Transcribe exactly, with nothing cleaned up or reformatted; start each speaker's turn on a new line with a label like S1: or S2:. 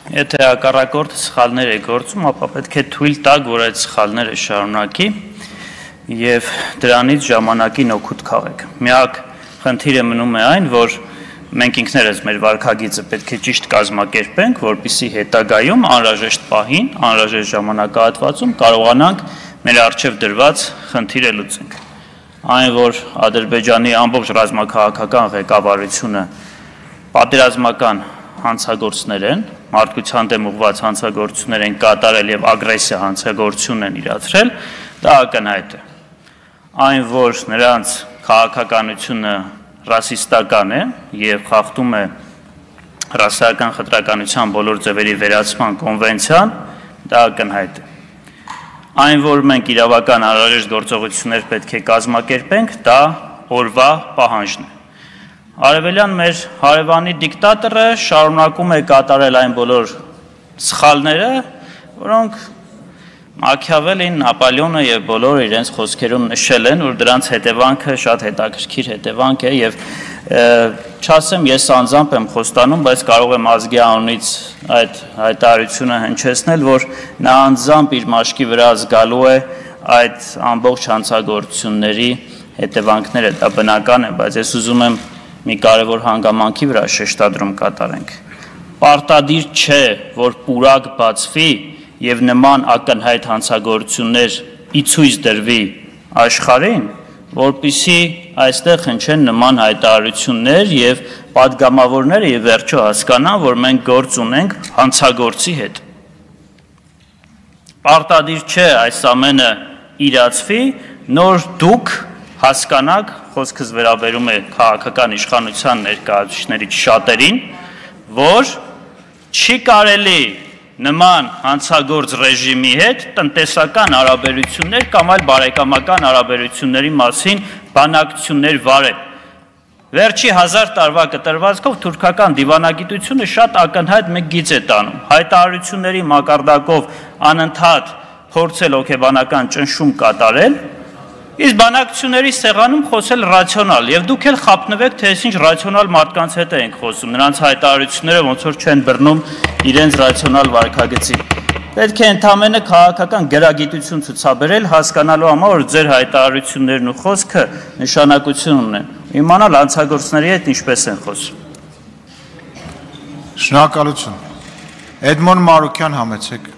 S1: Եթե հակառակորդը սխալներ է գործում, ապա պետք է թույլ տալ, որ այդ սխալները շարունակի եւ դրանից ժամանակին օգուտ քաղեք։ Միակ խնդիրը մնում է այն, որ մենք ինքներս մեր վարքագիծը պետք է ճիշտ կազմակերպենք, որպեսզի հետագայում անհրաժեշտ պահին, անհրաժեշտ ժամանակահատվածում կարողանանք մեր առջև դրված խնդիրը լուծենք։ Այն, որ Ադրբեջանի ամբողջ ռազմաքաղաքական ղեկավարությունը պատերազմական հանցագործներ են, մարդկության դեմ ուղղված հանցագործություններ են կատարել եւ ագրեսիա հանցագործություն են իրացրել, դա ակնհայտ է։ Այն, որ նրանց քաղաքականությունը ռասիստական է եւ խախտում է ռասայական խտրականության բոլոր ձևերի վերացման կոնվենցիան, դա ակնհայտ է։ Այն, որ մենք իրավական անհրաժեշտ գործողություններ պետք է կազմակերպենք, դա օրվա պահանջն է։ Արևելյան մեր հարևանի դիկտատորը շարունակում է կատարել այն բոլոր սխալները, որոնք Մաքիավելին, Նապոլեոնը եւ բոլորը իրենց խոսքերում նշել են, որ դրանց հետևանքը շատ հետաքրքիր հետևանք է եւ չասեմ ես անձամբ եմ խոստանում, բայց կարող եմ ազգի անունից այդ հայտարարությունը հնչեցնել, որ նա անձամբ իր մաշկի վրա զգալու է այդ ամբողջ հանցագործությունների հետևանքները, դա բնական է, բայց ես ուզում եմ մի կարևոր հանգամանքի վրա շեշտադրում կատարենք։ Պարտադիր չէ, որ պուրակ բացվի եւ նման ակնհայտ հանցագործություններ ի ցույց դրվի աշխարհին, որպեսզի այստեղ հնչեն նման հայտարարություններ եւ падգամավորները եւ վերջո հասկանան, որ մենք գործ ունենք հանցագործի հետ։ Պարտադիր չէ այս ամենը իրացվի, նոր դուք հասկանաք, խոսքս վերաբերում է քաղաքական իշխանության ներկայացուցիչներից շատերին, որ չի կարելի նման հանցագործ ռեժիմի հետ տնտեսական հարաբերություններ կամ այլ բարեկամական հարաբերությունների մասին բանակցություններ վարել։ Վերջի հազար տարվա կտրվածքով թուրքական դիվանագիտությունը շատ ակնհայտ մեկ գիծ է տանում։ Հայտարարությունների մակարդակով անընդհատ փորձել հոգեբանական ճնշում կատարել, իսկ բանակցությունների սեղանում խոսել ռացիոնալ, եւ դուք էլ խափնվեք, թե այսինչ ռացիոնալ մարդկանց հետ ենք խոսում, նրանց հայտարարությունները ոնց որ չեն բռնում իրենց ռացիոնալ վարքագծի։ Պետք է ընդամենը քաղաքական գրագիտություն ցուցաբերել, հասկանալու համար, որ ձեր հայտարարություններն ու խոսքը նշանակություն ունեն, իմանալ հանցագործների հետ ինչպես են խոսում։
S2: Շնորհակալություն։ Էդմոն Մարուկյան, համեցեք։